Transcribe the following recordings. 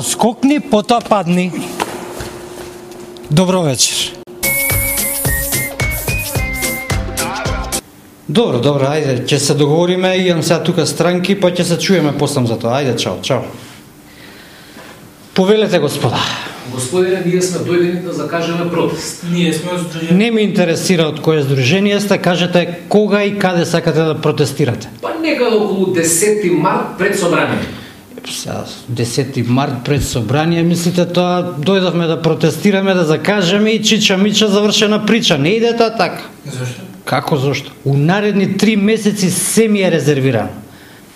Прво скокни, потоа падни. Добро вечер. Добро, ајде, ќе се договориме, имам сега тука странки, па ќе се чуеме послам за тоа. Ајде, чао. Повелете, господа. Господине, ние сме дојдени да закажеме протест. Ние сме здружени. Не ме интересира од кое здружение сте, кажете кога и каде сакате да протестирате. Па некаде околу 10 март пред собрание. 10 март пред собрание, мислите тоа дојдовме да протестираме, да закажеме и чича мича завршена прича. Не иде тоа така. Зошто? Како зошто? У наредни 3 месеци се ми е резервирано.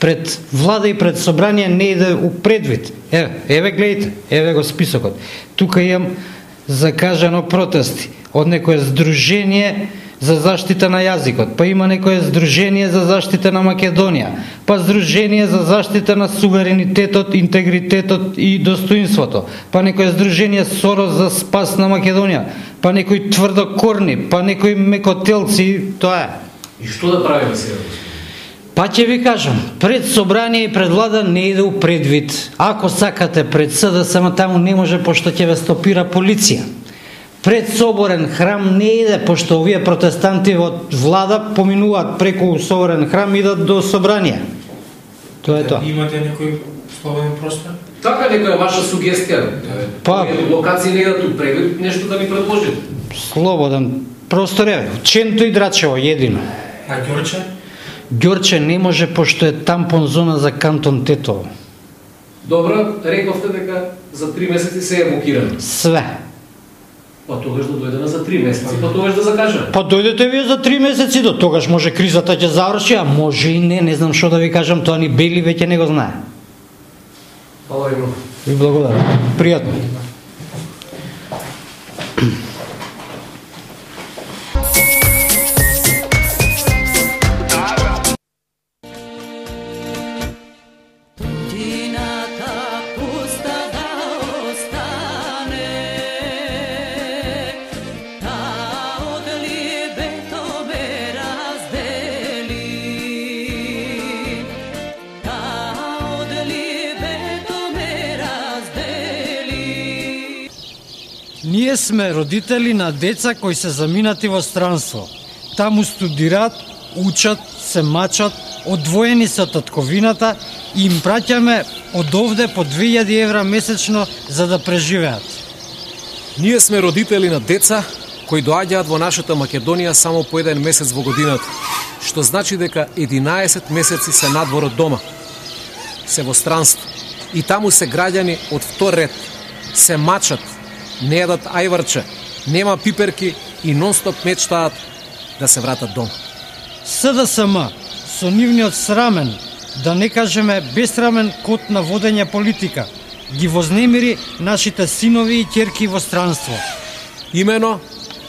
Пред влада и пред собрание не иде у предвид. Еве гледайте, еве го списокот. Тука имам закажано протести од некое здружение за заштита на јазикот, па има некое здружение за заштита на Македонија, па здружение за заштита на суверенитетот, интегритетот и достоинството, па некое здружение Сорос за спас на Македонија, па некои тврдокорни, па некои мекотелци, тоа е. И што да правиме сега? Па ќе ви кажам, пред собрание и пред влада не иде у предвид. Ако сакате пред СДСМ, таму не може, пошто ќе ве стопира полиција. Пред соборен храм не иде, пошто овие протестанти од влада поминуваат преку соборен храм и идат до собрание. Тоа е тоа. Имате некој слободен простор? Така нека е ваша сугестија. Па, локации не идат у предвид, нешто да ми предложите. слободен простор е. Ченто и Драчево едино. А Ѓорче? Ѓорче не може, пошто е тампон зона за кантон Тетово. Добро, рековте дека за 3 месеци се е блокирано. Све. Па тогаш да дојдеме за 3 месеци, па тогаш да закажеме. Па дојдете вие за 3 месеци, до тогаш може кризата ќе заврши, а може и не знам што да ви кажам, тоа ни Бели веќе не го знае. Фала ви многу. Ви благодарам. Пријатно. Ние сме родители на деца кои се заминати во странство. Таму студираат, учат, се мачат, одвоени се од татковината и им праќаме од овде по 2000 евра месечно за да преживеат. Ние сме родители на деца кои доаѓаат во нашата Македонија само по 1 месец во годината, што значи дека 11 месеци се надвор од дома. Се во странство и таму се граѓани од втор ред, се мачат, не едат ајварче, нема пиперки и нонстоп мечтаат да се вратат дома. СДСМ со нивниот срамен, да не кажеме бесрамен код на водење политика, ги вознемири нашите синови и ќерки во странство. Имено,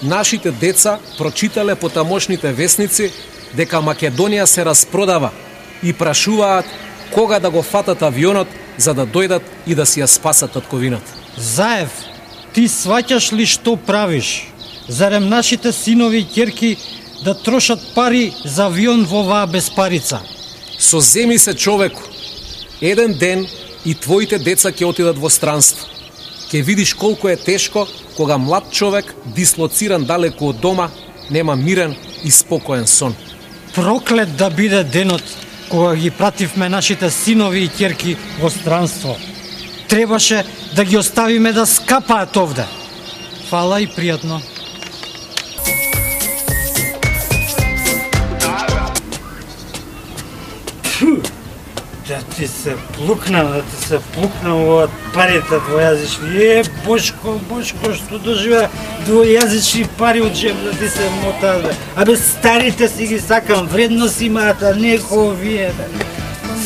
нашите деца прочитале по тамошните весници дека Македонија се распродава и прашуваат кога да го фатат авионот за да дојдат и да си ја спасат татковината. Заев, ти сваќаш ли што правиш? Зарем нашите синови и ќерки да трошат пари за авион во оваа безпарица? Соземи се, човеку. Еден ден и твоите деца ќе отидат во странство. Ќе видиш колку е тешко кога млад човек, дислоциран далеку од дома, нема мирен и спокоен сон. Проклет да биде денот кога ги пративме нашите синови и ќерки во странство. Требаше да ги оставиме да скапаат овде. Фала и пријатно. Да ти се плукнам во парите двојазични. Бошко, што доживеа двојазични пари од джеб да ти се мотаат. Абе, старите си ги сакам, вредност имаат, а не овие.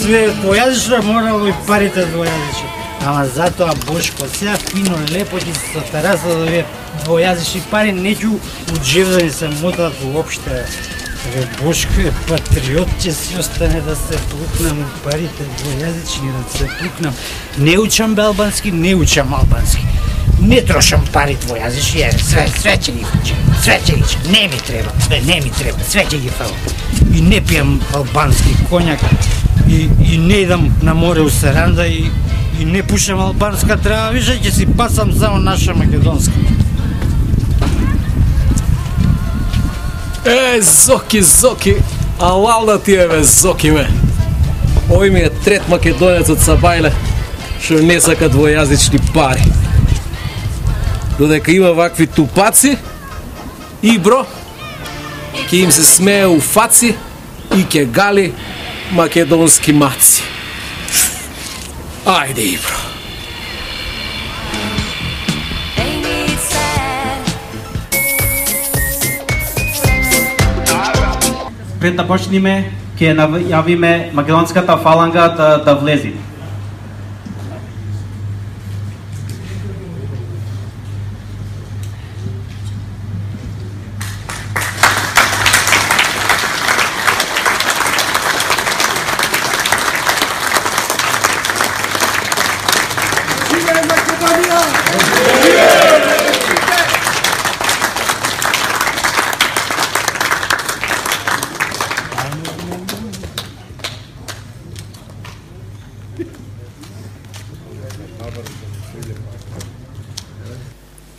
Све двојазично морало и парите двојазични. Ама затоа, Бошко, сега фино, лепо ќе се сатараса да овие двојазични пари, неќу у джеб да ни се мотаат уопште. Бошко е патриот, ќе си остане да се плукнам у парите двојазични, да се плукнам. Не учам албански, не учам албански. Не трошам пари двојазични, све ќе ги фучам, све ќе ги чам. Не ми треба, све ќе ги фалам. И не пијам албански коњак, и не идам на море у Саранда, и И не пушам албанска трева, више, ќе си пасам само наша македонска. Зоки, алал да ти е, бе, Зоки, ме. Овој ми е трет македонец од Сабајле, што не сака двојазични пари. Додека има вакви тупаци, и бро, ќе им се смее у фаци и ќе гали македонски маци. Ајде, и бро. Пред да почнеме, ќе најавиме македонската фаланга да влези.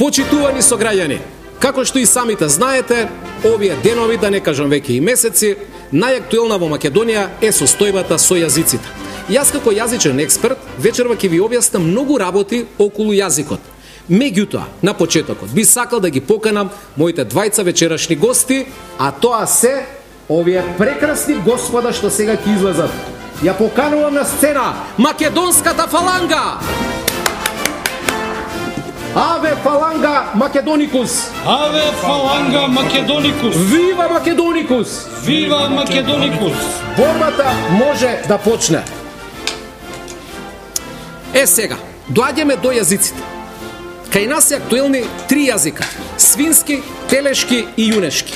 Почитувани сограѓани, како што и самите знаете, овие денови, да не кажам веќе и месеци, најактуелна во Македонија е состојбата со јазиците. Јас како јазичен експерт вечерва ќе ви објаснам многу работи околу јазикот. Меѓутоа, на почетокот би сакал да ги поканам моите двајца вечерашни гости, а тоа се овие прекрасни господа што сега ќе излезат. Ја поканувам на сцена македонската фаланга! Аве фаланга Македоникус! Аве фаланга Македоникус! Вива Македоникус! Вива Македоникус! Борбата може да почне. Сега, доаѓаме до јазиците. Кај нас се актуелни 3 јазика: свински, телешки и јунешки.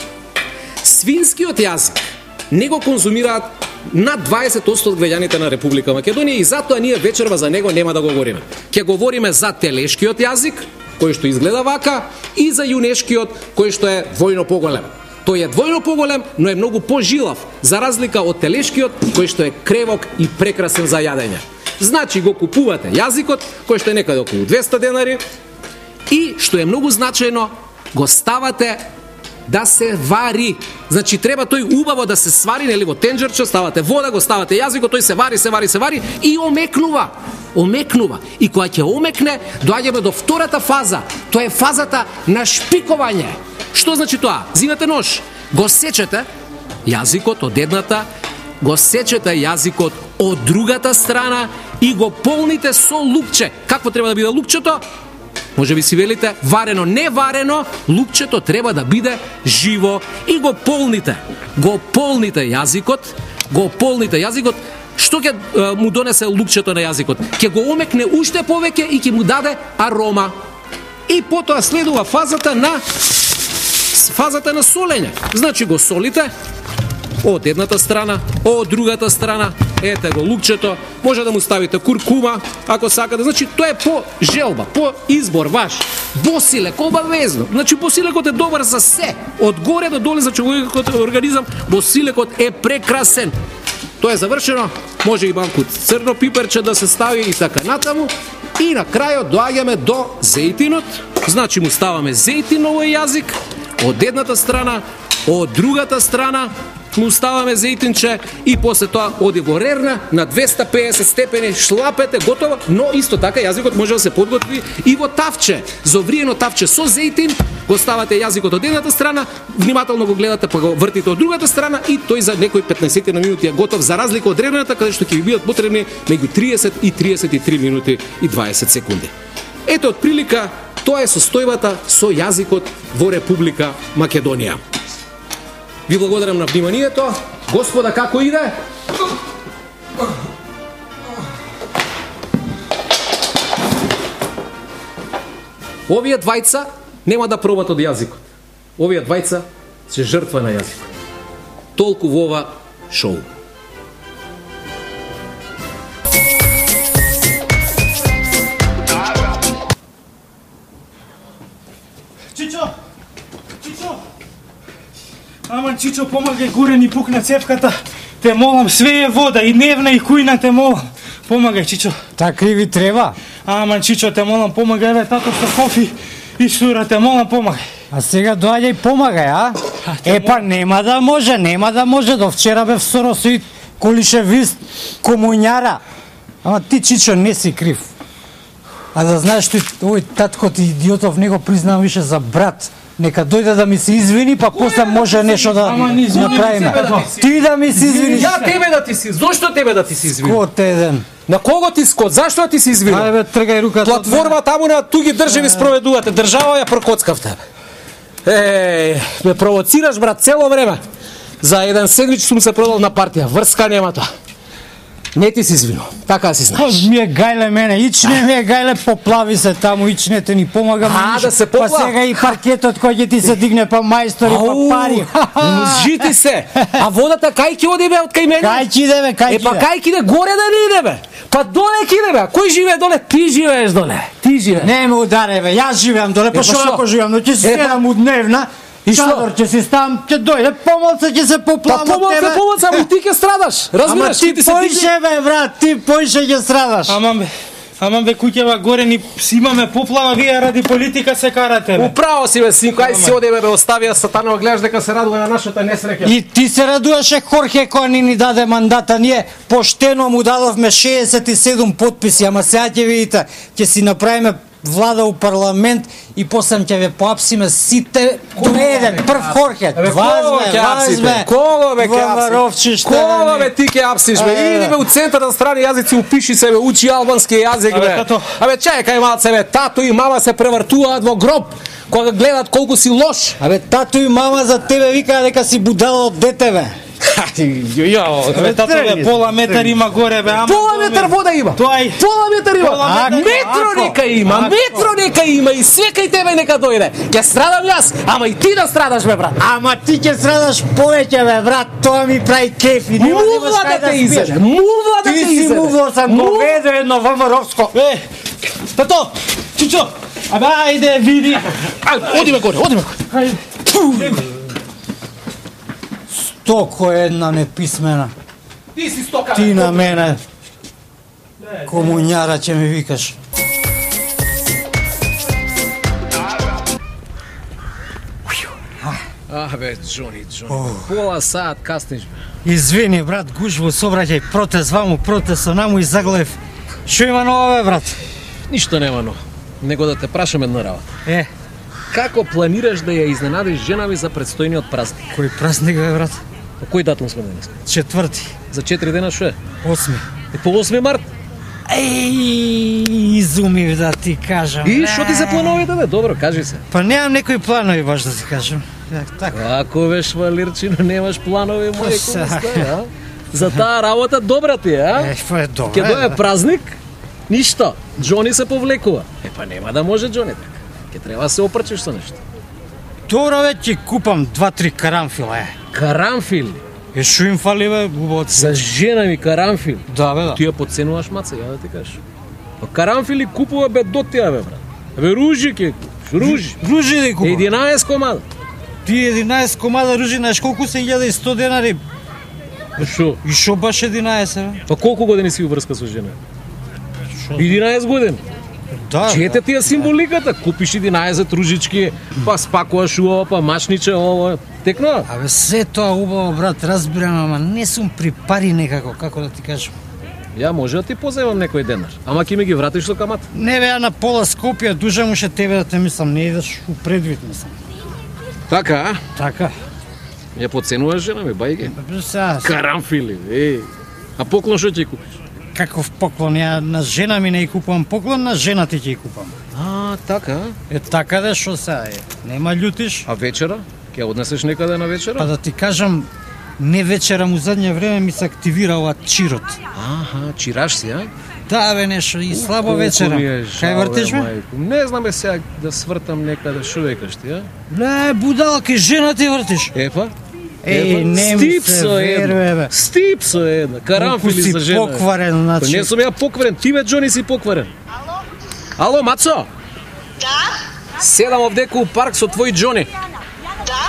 Свинскиот јазик не го конзумираат над 20% од граѓаните на Република Македонија и затоа ние вечерва за него нема да го говориме. Ќе говориме за телешкиот јазик, кој што изгледа вака, и за јунешкиот, кој што е двојно поголем. Тој е двојно поголем, но е многу пожилав, за разлика од телешкиот, кој што е кревок и прекрасен за јадење. Значи го купувате јазикот, кој што е некаде околу 200 денари, и што е многу значајно, го ставате да се вари. Значи треба тој убаво да се свари, нели, во тенџерче, ставате вода, го ставате јазикот, тој се вари и омекнува. И кога ќе омекне, доаѓаме до втората фаза. Тоа е фазата на шпикување. Што значи тоа? Зимате нож, го сечете јазикот од едната, го сечете јазикот од другата страна и го полните со лукче. Какво треба да биде лукчето? Може би си велите варено, не варено, лукчето треба да биде живо и го полните. Го полните јазикот. Што ќе му донесе лукчето на јазикот? Ќе го омекне уште повеќе и ќе му даде арома. И потоа следува фазата на солење. Значи го солите од едната страна, од другата страна, ете го лукчето, може да му ставите куркума, ако сакате. Значи тоа е по желба, по избор ваш. Босилек, обавезно. Значи босилекот е добар за се. Од горе до доле за човекот организам, босилекот е прекрасен. Тоа е завршено, може и малку црно пиперче да се стави и така натаму. И на крајот доаѓаме до зејтинот. Значи му ставаме зејтин на овој јазик, од едната страна, од другата страна, му ставаме зејтинче и после тоа оди во рерна на 250 степени, шлапете, готово, но исто така јазикот може да се подготви и во тавче, зовриено тавче со зејтин, го ставате јазикот од едната страна, внимателно го гледате, па го вртите од другата страна и тој за некои 15 на минути е готов, за разлика од рерната, каде што ќе ви бидат потребни меѓу 30 и 33 минути и 20 секунди. Ето, од прилика, тоа е состојбата со јазикот во Република Македонија. Ви благодарам на вниманието. Господа, како иде? Овие двајца нема да пробат од јазикот. Овие двајца се жртва на јазикот. Толку во ова шоу. Аман, Чичо, помагај, горе ни пукна цевката. Те молам, све е вода, и дневна, и кујна, те молам. Помагај, Чичо. Така и ви треба. Ама, Чичо, те молам, помагај, бе, тато со кофи и сура, те молам, помагај. А сега доаѓај помагај, а? Па нема да може. До вчера бев со Росоид Колишевист, комуњара. Ама ти, Чичо, не си крив. А да знаеш, овој татко ти идиотов не го признам више за брат. Нека дојде да ми се извини, па после може нешто да направиме. Ти да ми се извиниш. Ја тебе да ти си, зошто тебе да ти се извини? Скот еден. На кого ти скот? Зашто да ти се извини? Ајде бе, тргај руката. Платформа таму на туги држави спроведувате. Држава ја прокоцкавте. Ме провоцираш, брат, цело време. За еден седмич сум се продал на партија. Врска нема тоа. Не ти си извинил, така си знаеш. Ми е гајле мене, ичне ми е гајле, поплави се таму, ичне те ни помага. Да се поплави. Па сега и паркетот кој ќе ти се дигне, па мајстори, па пари. Жити се. А водата кај ќе оди бе од кај мене? Кај ќе иде бе, кај ќе иде? Па кај ќе иде, горе да не иде бе. Па доле ќе иде бе. Кој живее доле? Ти живееш доле. Ти живееш. Не ме ударе бе, јас живеам доле, па што ако живеам, но ќе си седам у дневна. И чадор ќе си ставам, ќе дојде, помалце ќе се поплавам од тебе. Па помалце, ама ти ќе страдаш. Разбираш, ти поише бе, брат, ти поише ќе страдаш. Ама бе, куќева горе ни имаме поплава, вие ради политика се карате бе. Управо си бе, синко, ај си оди бе, оставија Сатанова, гледаш дека се радува на нашата несреќа. И ти се радуваше Хорхе кој ни даде мандата, ние поштено му дадовме 67 подписи, ама сега ќе видите, ќе си направиме влада у парламент и после ќе ве поапсиме сите до еден, прв Хорхе. Возме. Кого бе ќе Кого бе ти ќе апсиш бе? Иди бе у центар на страни јазици, упиши се бе, учи албански јазик бе. Абе чекај малце бе, тато и мама се превртуваат во гроб кога гледат колку си лош. Абе тато и мама за тебе викаа дека си будала од дете бе. Бе, тато бе, пола метар има горе бе, ама... Пола метар вода има! Пола метар има! Метро нека има и све кај тебе нека дојде! Ќе страдам јас, ама и ти да страдаш бе, брат! Ама ти ќе страдаш повеќе бе, брат, тоа ми прави кеф и нема да имаш кај да спиеш. Мувла да те изеде! Ти си мувло сам, говедо едно ВМРО-вско! Тато! Чичо! Абе, ајде, види! Одиме горе! Стоко една неписмена. Ти си стока. Ти на мене. Комуњара ќе ми викаш. Бе, Джони. Пола саат касниш бе. Извини, брат, гужво, собраќај, протест ваму, протест со наму и заглев. Шо има ново бе, брат? Ништо нема ново. Него да те прашам една работа. Како планираш да ја изненадиш жена ми за предстојниот празник? Кој празник бе, брат? По кој датум сме денес? 4. За 4 дена шо е? 8. По 8 март? Изумив да ти кажам. И што ти се плановите бе? Добро, кажи се. Па немам некои планови баш да ти кажам. Така. Ако беш Валирчино, немаш планови мои а? За таа работа добра ти е, а? Па е добра. Ке дое празник, ништо. Джони се повлекува. Па нема да може Джони така. Ке треба се опрчиш со нешто. Добро бе, ќе купам 2-3 карамфила, Карамфили? Шо им фали бе, убавот? За жена ми карамфил? Да бе, да. Ти ја подценуваш маца, ја да ти кажеш. Па карамфили купува бе до тија бе, брат. Бе ружи ќе купиш, ружи. Ружи да купам. 11 комада. Ти 11 комада ружи, знаеш колку се 1100 денари? Шо? И шо баш 11 бе? Па колку години си уврска со жена? 11 години. Да. Чете ти ја символиката, купиш 11 ружички, па спакуваш ова, па мачниче ова, текно? Абе се тоа убаво, брат, разбирам, ама не сум при пари некако, како да ти кажам. Ја може да ти позајмам некој денар, ама ќе ми ги вратиш со камат. Не бе, ја на пола Скопје, дужа муше тебе да те мислам, не идеш у предвид, мислам. Така, а? Така. Ја подценуваш жена ми, бајге? Сега, Карамфили, А поклон што ќе купиш? каков поклон, ја на жена ми не ја купувам поклон, на жена ти ќе ја купам. Така? Така да шо сега е, нема љутиш? А вечера? Ќе однесеш некаде на вечера? Па да ти кажам, не вечерам у задње време ми се активира ова чирот. Чираш си, а? Да бе, нешто и слабо вечерам. Кај вртиш ме? Не знам сега да свртам некаде, шо викаш ти, а? Не, будала, кај жена ти вртиш. Епа? Не ми се веруе, бе. Стипсо една, карамфили за жена. Колку си покварен, значи. Не сум ја покварен, ти бе, Джони, си покварен. Ало, Мацо? Да? Седам овдеку у парк со твој Джони. Да?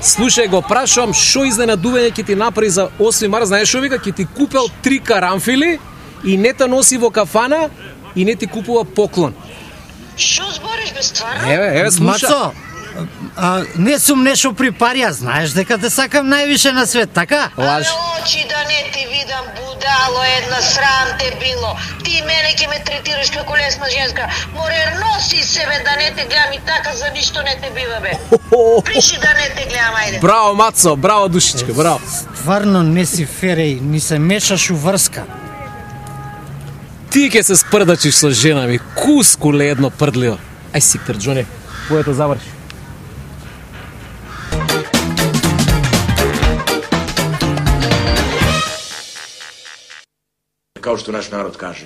Слушај го, прашувам, шо изненадување ќе ти направи за 8 март, знаеш шо вика? Ќе ти купел 3 карамфили И не те носи во кафана и не ти купува поклон. Што збориш бе стварно? Еве, слуша. Мацо, не сум нешто при парија, знаеш дека те сакам највише на свет, така? Лаж. Очи да не ти видам, будало, една срам те било. Ти мене ќе ме третираш како лесна женска. Море носи себе да не те гледам и така за ништо не те бива бе. Приши да не те гледам, ајде. Браво, Мацо, браво, душичка, браво. Стварно не си фереј, ни се мешаш у врска. Ти ќе се спрдачиш со жена ми, кускуле едно прдливо. Ај си, Джоне, поето заврши. Kao što naš narod kaže.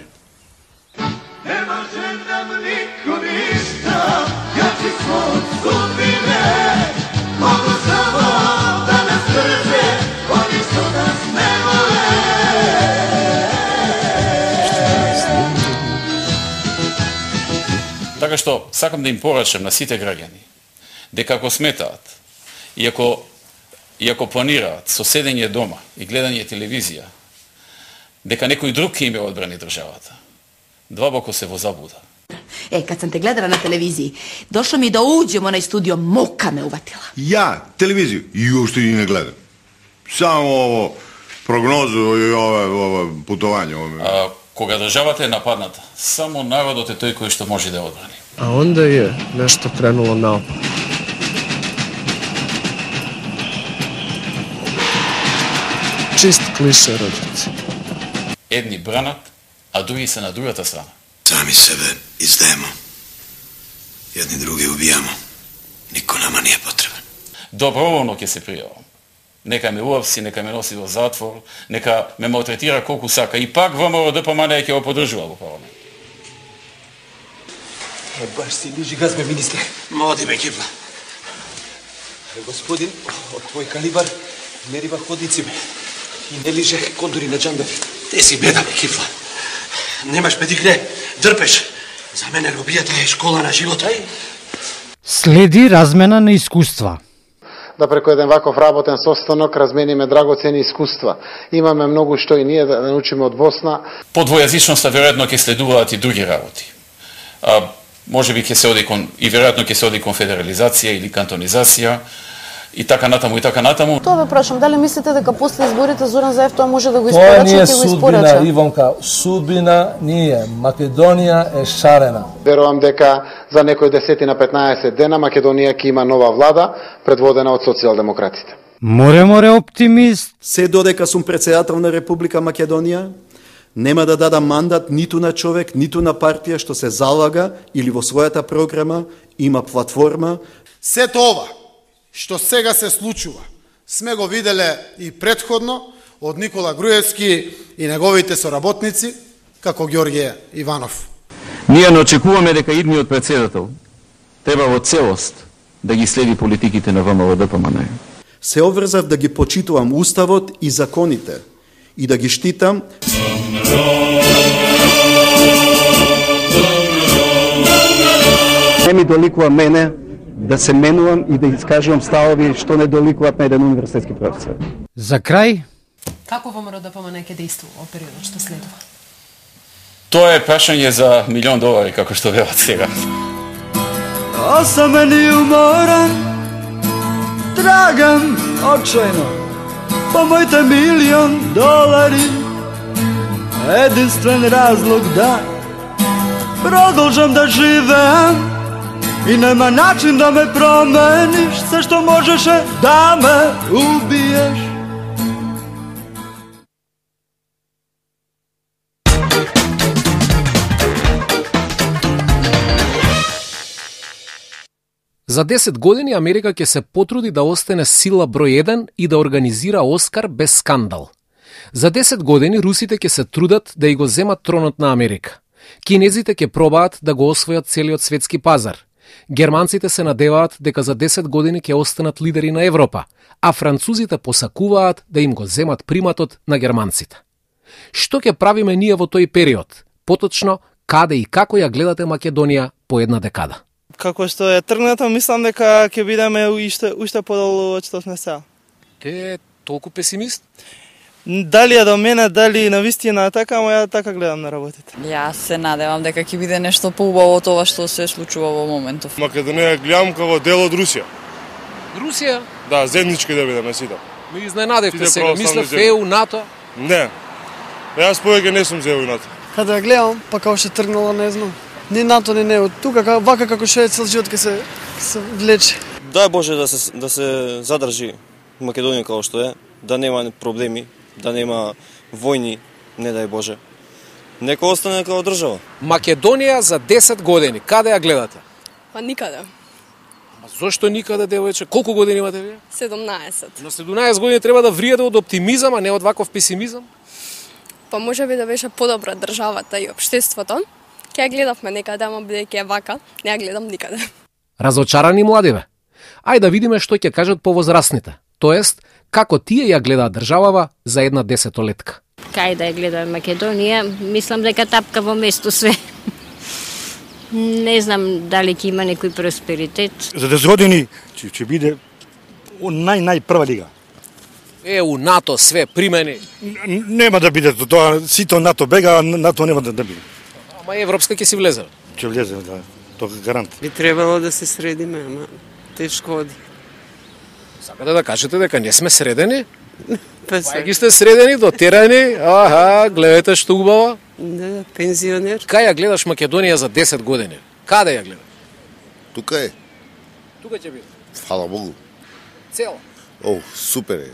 Ne može nam niko ništa, ja ću svoj sudbine, mogu samo da nas drže, oni što nas ne vole. Така што сакам да им порачам на сите граѓани дека ако сметаат и ако планираат со седење дома и гледање телевизија дека некој друг ќе им ја одбрани државата, длабоко се во заблуда. Kad sam te gledala na televiziji, došlo mi da uđem u onaj studio, muka me uvatila. Ja, televiziju? I uopšte i ne gledam. Само ovo прогнозу и ова путовање. Кога државата е нападната, само народот е тој кој што може да ја одбрани. А онда е нешто кренуло наопак. Чист клише, роđaci. Едни бранат, а други се на другата страна. Sami sebe izdajemo. Jedni drugi ubijamo. Niko nama nije potreban. Доброволно ќе се пријавам. Нека ме уапси, нека ме носи во затвор, нека ме малтретира колку сака. И пак ВМРО ДПМН ќе го поддржува во парламент. Баш си лижи газ, бе, министре. Моди бе, кипла. Господин, од твој калибар не рива ходници, бе. И не лиже кондури на джамбе. Ти си беда, бе, кипла. Немаш педикне, дрпеш. За мене робијата е школа на живота. Следи размена на искуства. Да преку еден ваков работен состанок размениме драгоцени искуства. Имаме многу што и ние да научиме од Босна. По двојазичноста веројатно ќе следуваат и други работи. Може би ќе се оди и веројатно ќе се оди кон федерализација или кантонизација и така натаму и така натаму. Тоа ве прашам, дали мислите дека после изборите Зоран Заев тоа може да го испорача и го испорача? Тоа не е судбина, Ивонка, судбина ние. Македонија е шарена. Верувам дека за некој 10-15 дена Македонија ќе има нова влада предводена од социјалдемократите. Море оптимист. Се додека сум председател на Република Македонија, нема да дадам мандат ниту на човек, ниту на партија што се залага или во својата програма има платформа. Сето ова што сега се случува, сме го виделе и претходно од Никола Груевски и неговите соработници, како Ѓорѓе Иванов. Ние не очекуваме дека идниот председател треба во целост да ги следи политиките на ВМРО ДПМН. Се обврзав да ги почитувам уставот и законите и да ги штитам. Не ми доликува мене да се менувам и да искажувам ставови што не доликуваат на еден универзитетски професор. За крај? Како ВМРО ДПМН ќе действува во периодот што следува? Тоа е прашање за $1.000.000, како што велат сега. Осамен и уморен, трагам очајно по моите $1.000.000. Единствен разлог да продолжам да живеам и нема начин да ме промениш, се што можеше да ме убиеш. За 10 години Америка ќе се потруди да остане сила број 1 и да организира Оскар без скандал. За 10 години русите ќе се трудат да и го земат тронот на Америка. Кинезите ќе пробаат да го освојат целиот светски пазар. Германците се надеваат дека за 10 години ќе останат лидери на Европа, а французите посакуваат да им го земат приматот на германците. Што ќе правиме ние во тој период? Поточно, каде и како ја гледате Македонија по една декада? Како што е тргнато, мислам дека ќе бидеме уште подолу од што сме сега. Те толку песимист? Дали е до мене, дали на вистина така, ама ја така гледам на работите. Јас се надевам дека ќе биде нешто поубаво од тоа што се случува во моментов. Македонија гледам како дел од Русија. Русија? Да, земнички да бидеме сите. Ми изненадевте сега, мислев ЕУ, НАТО. Не. Јас повеќе не сум за ЕУ и НАТО. Каде ја гледам, па како што тргнала, не знам. Ни НАТО, ни НЕУ. Тука, вака како што е цел живот ке се влече. Дај Боже да се задржи Македонија како што е, да нема проблеми, да нема војни, не дај Боже. Нека остане како држава. Македонија за 10 години, каде ја гледате? Па никаде. Ама зошто никаде, девојче? Колку години имате вие? 17. На 17 години треба да вриеде од оптимизам, а не од ваков песимизам? Па може би да беше подобра државата и општеството. Ке ја гледавме некаде, ама бидејќи е вака, не ја гледам никаде. Разочарани младиве? Ај да видиме што ќе кажат повозрастните. Тоест, како тие ја гледаат државава за една 10-летка. Кај да ја гледаме Македонија, мислам дека тапка во место све. Не знам дали ќе има некој просперитет. За 10 години ќе биде најпрва лига. ЕУ, НАТО, све примени. Нема да биде тоа, сите НАТО бега, НАТО нема да биде. Ама Европска ќе си влезе. Ќе влезе, да. Тоа е гарант. Би требало да се средиме, ама тешко оди. Сакате да кажете дека не сме средени? Па ги сте средени, дотерани, аха, гледате што убава. Да, пензионер. Кај ја гледаш Македонија за 10 години? Каде ја гледаш? Тука е. Тука ќе биде. Фала Богу. Цела. О, супер е.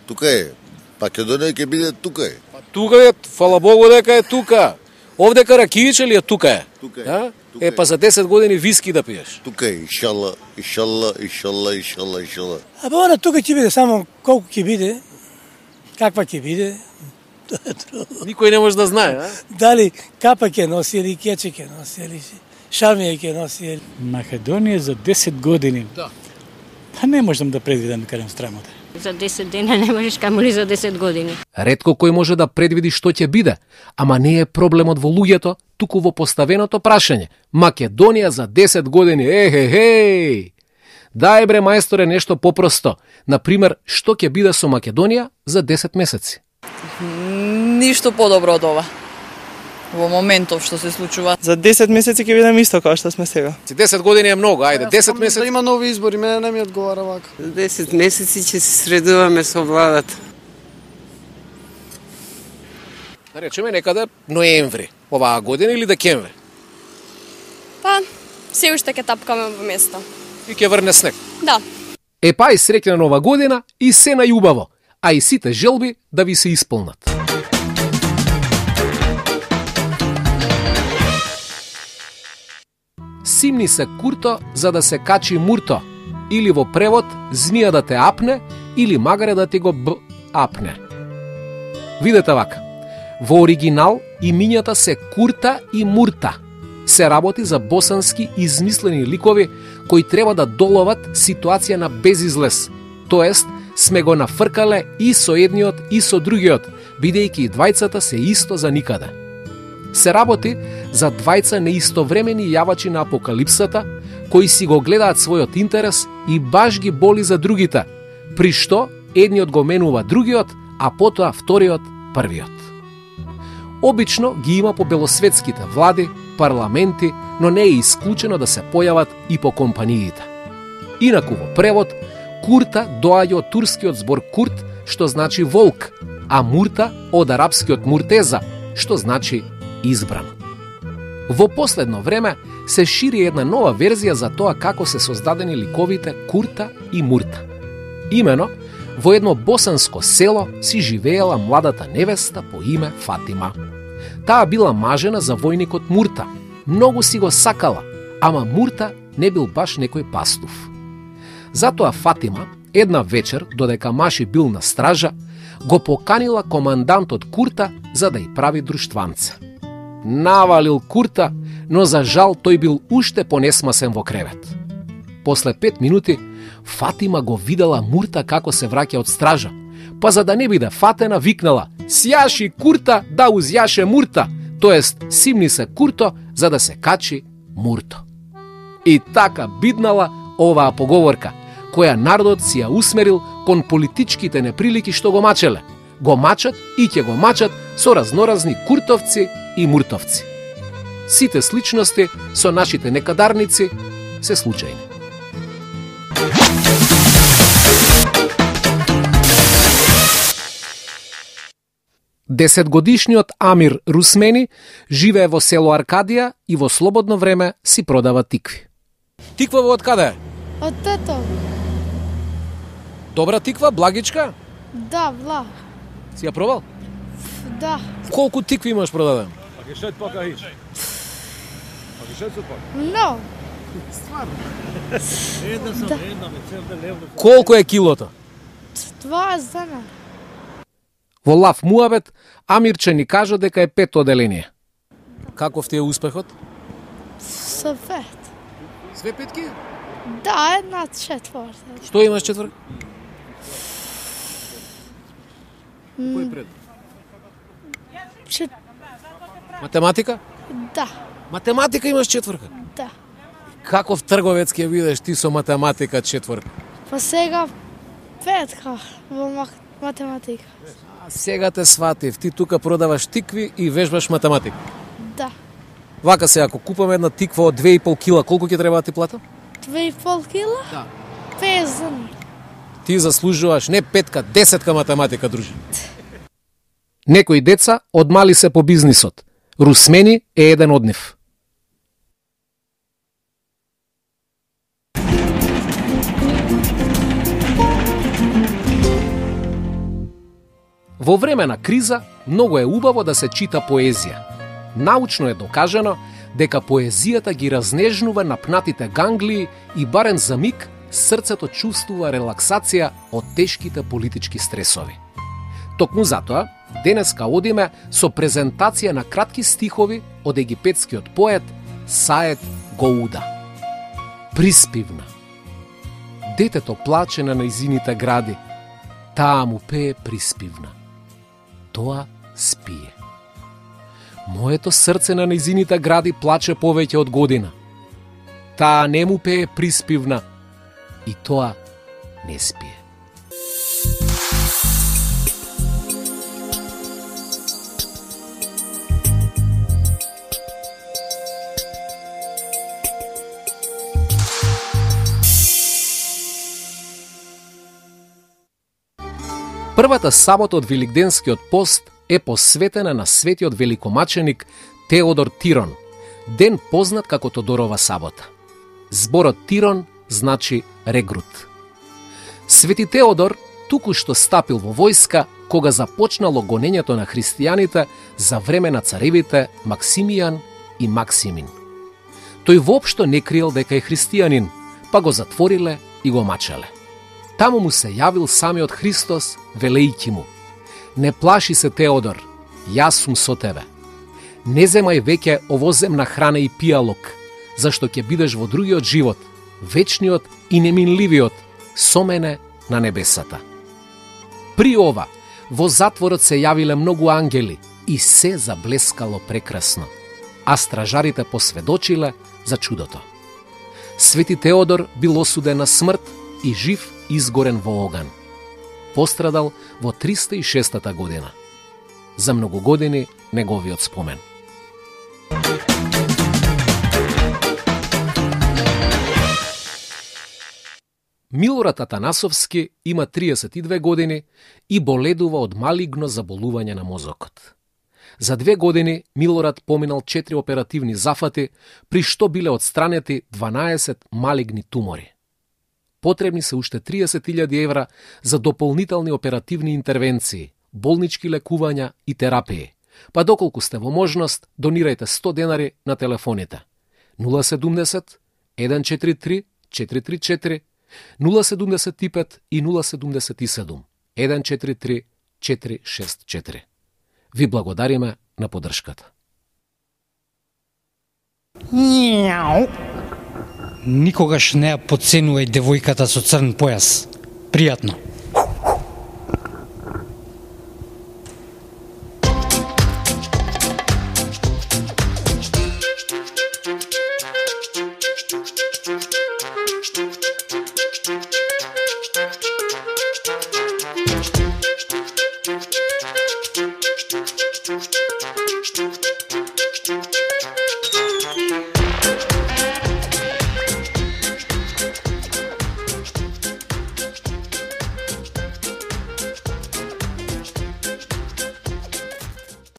Тука е. Македонија ќе биде тука е. Па тука е, фала Богу дека е тука. Овде Каракијич или е тука е? Тука е. А? Е, па за 10 години виски да пиеш. Тука е, иншалла, иншалла, иншалла, иншалла, иншалла. А па она тука ќе биде, само колку ќе биде, каква ќе биде. Никој не може да знае, а? Дали капа ќе носи или кече ќе носи или шамија ќе носи. Македонија за 10 години. Да. Па не можам да предвидам кажам страмата. За 10 дена не можеш, камоли за 10 години. Ретко кој може да предвиди што ќе биде, ама не е проблемот во луѓето, туку во поставеното прашање. Македонија за 10 години, ехе. Дај бре мајсторе нешто попросто. Например, што ќе биде со Македонија за 10 месеци? Ништо подобро од ова. Во моментов што се случува. За 10 месеци ќе бидеме исто како што сме сега. 10 години е многу, ајде, 10 месеци. Да има нови избори, мене не ми одговара вака. За 10 месеци ќе се средуваме со владата. Да речеме некаде ноември оваа година или декември. Па, се уште ќе тапкаме во место. И ќе врне снег. Да. Па и среќна нова година и се најубаво, а и сите желби да ви се исполнат. Симни се курто за да се качи мурто, или во превод змија да те апне, или магаре да ти го апне. Видете вака, во оригинал имињата се Курта и Мурта. Се работи за босански измислени ликови кои треба да доловат ситуација на безизлез. Тоест, сме го нафркале и со едниот и со другиот, бидејќи и двајцата се исто за никаде. Се работи за двајца неистовремени јавачи на апокалипсата, кои си го гледаат својот интерес и баш ги боли за другите, при што едниот го менува другиот, а потоа вториот првиот. Обично ги има по белосветските влади, парламенти, но не е исклучено да се појават и по компаниите. Инаку во превод, Курта доаѓа од турскиот збор Курт, што значи волк, а Мурта од арапскиот Муртеза, што значи избран. Во последно време се шири една нова верзија за тоа како се создадени ликовите Курта и Мурта. Имено, во едно босанско село си живеела младата невеста по име Фатима. Таа била мажена за војникот Мурта. Многу си го сакала, ама Мурта не бил баш некој пастув. Затоа Фатима, една вечер, додека маши бил на стража, го поканила командантот Курта за да ја прави друштванце. Навалил Курта, но за жал тој бил уште понесмасен во кревет. После 5 минути, Фатима го видела Мурта како се враќа од стража, па за да не биде фатена, викнала: "Сјаши Курта да узјаше Мурта", тоест симни се Курто за да се качи Мурто. И така биднала оваа поговорка, која народот си ја усмерил кон политичките неприлики што го мачеле. го мачат и ќе го мачат со разноразни куртовци и муртовци. Сите сличности со нашите некадарници се случајни. Десетгодишниот Амир Русмени живее во село Аркадија и во слободно време си продава тикви. Тиква од каде? Од тето. Добра тиква, благичка? Да, благ. Си ја пробал? Да. Колку тикви имаш продаден? Но. Колку е килото? 20 дена. Во лав муабет, Амирче ни кажа дека е 5 оделение. Каков ти е успехот? Со 5. Све петки? Да, една четврта. Што имаш четврта? Кој пред? Математика? Да. Математика имаш четврка? Да. Каков трговец ќе бидеш ти со математика четврка? Па сега петка во математика. А сега те сватив, ти тука продаваш тикви и вежбаш математика. Да. Вака се, ако купам една тиква од 2,5 кила, колку ќе треба да ти платам? 2,5 кила? Да. 50 дена. Ти заслужуваш не 5-ка, 10-ка математика, дружи. Некои деца одмали се по бизнисот. Русмени е еден од нив. Во време на криза, многу е убаво да се чита поезија. Научно е докажано дека поезијата ги разнежнува напнатите ганглии и барем за миг срцето чувствува релаксација од тешките политички стресови. Токму затоа, денеска одиме со презентација на кратки стихови од египетскиот поет Саед Гоуда. Приспивна. Детето плаче на нејзините гради, таа му пее приспивна. Тоа спие. Моето срце на нејзините гради плаче повеќе од година. Таа не му пее приспивна и тоа не спие. Првата сабота од Великденскиот пост е посветена на светиот великомаченик Теодор Тирон, ден познат како Тодорова сабота. Зборот Тирон значи регрут. Свети Теодор туку што стапил во војска кога започнало гонењето на христијаните за време на царевите Максимијан и Максимин. Тој воопшто не криел дека е христијанин, па го затвориле и го мачале. Таму му се јавил самиот Христос, велејќи му: не плаши се, Теодор, јас сум со тебе. Не земај веќе овоземна храна и пијалок, зашто ќе бидеш во другиот живот, вечниот и неминливиот, со мене на небесата. При ова, во затворот се јавиле многу ангели и се заблескало прекрасно, а стражарите посведочиле за чудото. Свети Теодор бил осуден на смрт и жив изгорен во оган. Пострадал во 306 година. За многу години неговиот спомен. Милорад Атанасовски има 32 години и боледува од малигно заболување на мозокот. За 2 години Милорад поминал 4 оперативни зафати, при што биле отстранети 12 малигни тумори. Потребни се уште 30.000 евра за дополнителни оперативни интервенции, болнички лекувања и терапии. Па доколку сте во можност, донирајте 100 денари на телефоните 070 143 434 075 и 077 143 464. Ви благодариме на поддршката. Никогаш не ја подценувај девојката со црн појас. Пријатно. Слушайте!